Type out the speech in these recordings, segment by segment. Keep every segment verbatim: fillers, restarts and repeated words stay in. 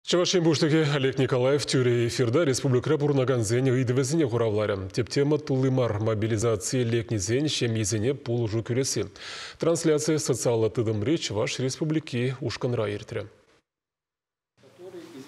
Чӑваш Ен Пуҫлӑхӗ Олег Николаев тӳрӗ эфирта республикӑра пурӑнакансен ыйтӑвӗсене хуравларӗ. Тӗп тема тулли мар мобилизацие лекнисен ҫемйисене пулӑшу кӳресси. Трансляци социаллӑ тытӑмри Чӑваш Республики ушкӑнра иртрӗ.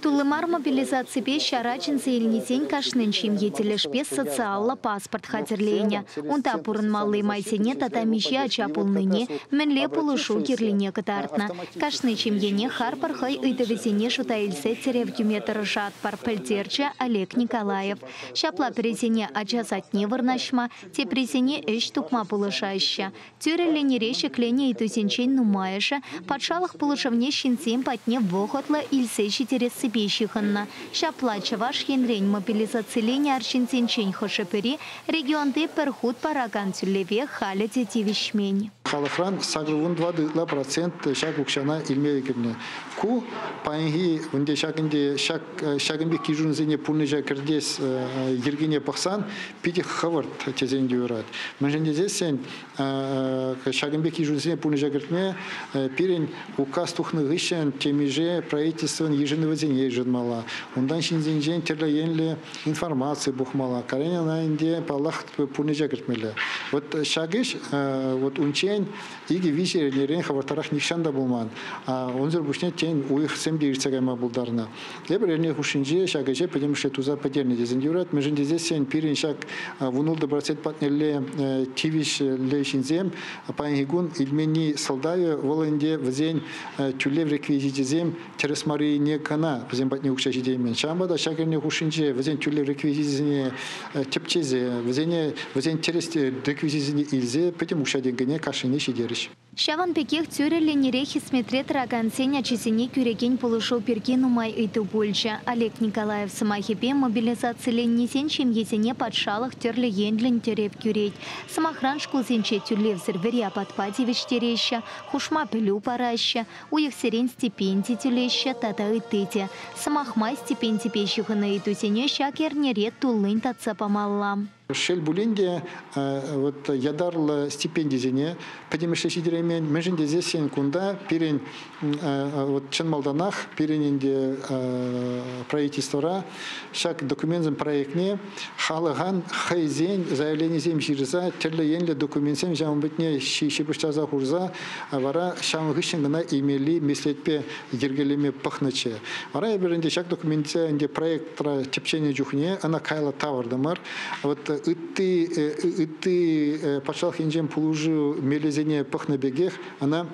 Тулли мар мобилизаципе ҫара чӗнсе илнисен кашнин ҫемье тӗлӗшпе социаллӑ паспорт хатӗрленӗ. Унта пурӑнмалли майсене тата миҫе ача пулнине, мӗнле пулӑшу кирлине кӑтартнӑ. Кашни ҫемьене харпӑр хӑй ыйтӑвӗсене шута илсе тӗрев кӳме тӑрӑшатпӑр, пӗлтерчӗ Олег Николаев. Ҫапла пӗрисене ача садне вырнаҫма, теприсене ӗҫ тупма пулӑшаҫҫӗ. Тӳрӗ линире ҫӗкленӗ ыйтусенчен нумайӑшӗ патшалӑх пулӑшӑвне ҫынсем патне вӑхӑтлӑ илсе ҫитерессипе ҫыхӑннӑ. Ҫапла Чӑваш Енрен мобилизациленӗ арҫынсенчен хӑшӗ-пӗри регионти пӗр хут паракан тӳлеве халӗ те тивӗҫмен. Халӑхран сакӑр вун тӑватӑ ытла процент ҫак укҫана илме кӗртнӗ. Ку паянхи ӗнтӗ ҫакӑнти ҫак, ҫакӑн пек йышӑнусене пурнӑҫа кӗртес, э, йӗркене пӑхсан питӗ хӑвӑрт тесен те юрать. Мӗншӗн тесессӗн, э, ҫакӑн пек йышӑнусене пурнӑҫа кӗртме, э, пирӗн указ тухнӑ хыҫҫӑн темиҫе правительствӑн йышӑнӑвӗсене йышӑнмалла. Унтан ҫынсенчен тӗрлӗ енлӗ информаци пухмалла. Кален ӑна ӗнтӗ паллах пурнӑҫа кӗртмелле. Вот ҫак ӗҫ, э, вот унччен икӗ виҫӗ эрнерен хӑвӑртрах нихҫан та пулман. А, унсӑр пуҫне тен уйӑхсем те иртсе кайма пултарнӑ. Тепӗр эрне хушшинче ҫак ӗҫе пӗтӗмӗшле туса пӗтернӗ тесен юрать. Мӗншӗн тесессӗн пирӗн ҫак, а, вун ултӑ процент патнелле, э, тивӗҫлӗ ҫынсем паянхи кун илменни сӑлтавӗ вӑл ӗнтӗ вӗсен, э, тӳлев реквизичӗсем тӗрӗс маррине кӑна вӗсем патне укҫа ҫитеймен. Ҫавӑнпа та ҫак эрне хушшинче вӗсен тӳлев реквизичӗсене, э, тӗпчесе, вӗсене, вӗсен тӗрӗс реквизичӗсене илсе пӗтӗм укҫа-тенкӗне кашнине ҫитерӗҫ. Ҫавӑн пекех тӳрӗ линире хӗсметре тӑракансен ачисене кӳрекен пулӑшу пирки нумай ыйту пулчӗ. Олег Николаев сӑмахӗпе мобилизациленнисен ҫемьесене патшалӑх тӗрлӗ енлӗн тӗрев кӳрет. Сӑмахран шкулсенче тӳлевсӗр вӗри апатпа тивӗҫтереҫҫӗ, хушма пӗлӳ параҫҫӗ, уйӑхсерен стипенди тӳлеҫҫӗ тата ытти те. Сӑмах май стипендипе ҫыхӑннӑ ыйтусене ҫак эрнере туллин татса памалла. Шел пулин те, э, вот ятарлӑ стипендисене пӗтӗмӗшле ҫитереймен. Мӗншӗн тесессӗн кунта пирӗн, э, вот чӑн малтанах пирӗн ӗнтӗ, э, правительствӑра ҫак документсен проектне халӑхан хӑйсен заявленисем ҫырса тӗрлӗ енлӗ документсем ҫавӑн патне ҫи-, ҫыпӑҫтарса хурса вара ҫавӑн хыҫҫӑн кӑна илмелли меслетпе йӗркелеме пӑхнӑччӗ. Вара эпир ӗнтӗ ҫак документсем ӗнтӗ проектра тӗпченӗ чухне ӑна кайла тавӑртӑмӑр. Вот ытти, э, ытти, э, патшалӑх енчен пулӑшу мелӗсене пӑхнӑ пекех ӑна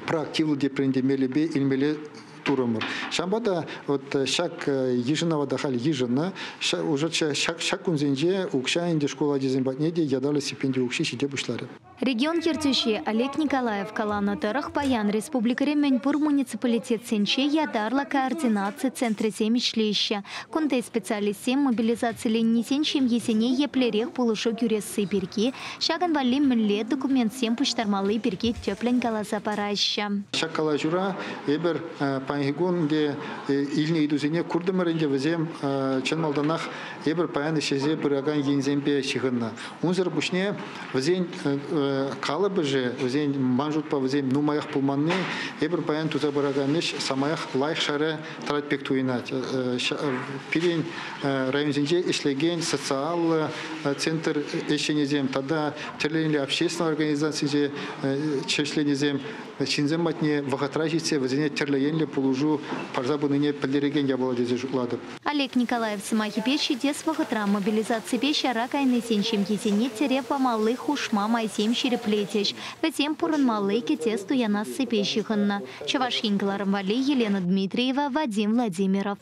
проактивлӑ тепринде мелӗпе илмелле турӑмӑр. Ҫавӑнпа та вот ҫак, э, йышӑнӑва та халь йышӑннӑ. Ҫа-, уже ҫа-, ҫак, ҫак кунсенче укҫа ӗнтӗ шкул ачисем патне те ятарлӑ стипенди укҫи ҫите пуҫларӗ. Регион ертӳҫи Олег Николаев каланӑ тӑрӑх паян республикӑри мӗнпур муниципалитетсенче ятарлӑ координаци центрӗсем ӗҫлеҫҫӗ. Кунти специалистсем мобилизациленнисен ҫемйисене еплерех пулӑшу кӳресси пирки, ҫакӑн валли мӗнле документсем пуҫтармалли пирки тӗплӗн каласа параҫҫӗ. Ҫак калаҫура эпир, э, паянхи кун ӗнтӗ, э, илнӗ ыйтусене куртӑмӑр ӗнтӗ, вӗсем, э, чӑн малтанах эпир паян ӗҫлесе пыракан енсемпе ҫыхӑннӑ. Унсӑр пуҫне вӗсен, э, э, калӑпӑшӗ, вӗсен ман шутпа вӗсем нумаях пулманни, эпир паян туса пыракан ӗҫ самаях лайӑх шайра тӑрать пек туйӑнать. Э, э, ҫа-, э, пирӗн, э, районсенче ӗҫлекен социаллӑ, э, центр ӗҫченӗсем тата тӗрлӗ общественнӑй организацисенче, э, ӗҫленисем ҫынсем патне вӑхӑтра ҫитсе вӗсене тӗрлӗ енлӗ пулӑшу парса пынине пӗлтерекен япала тесе шутлатӑп. Олег Николаев сӑмахӗпе ҫитес вӑхӑтра мобилизаципе ҫара кайнисен ҫемйисене тӗрев памалли хушма майсем ҫирӗплетӗҫ. Вӗсем пурӑнмалли кӗтес туянассипе ҫыхӑннӑ. Чӑваш Ен кӑларӑм валли Елена Дмитриева, Вадим Владимиров.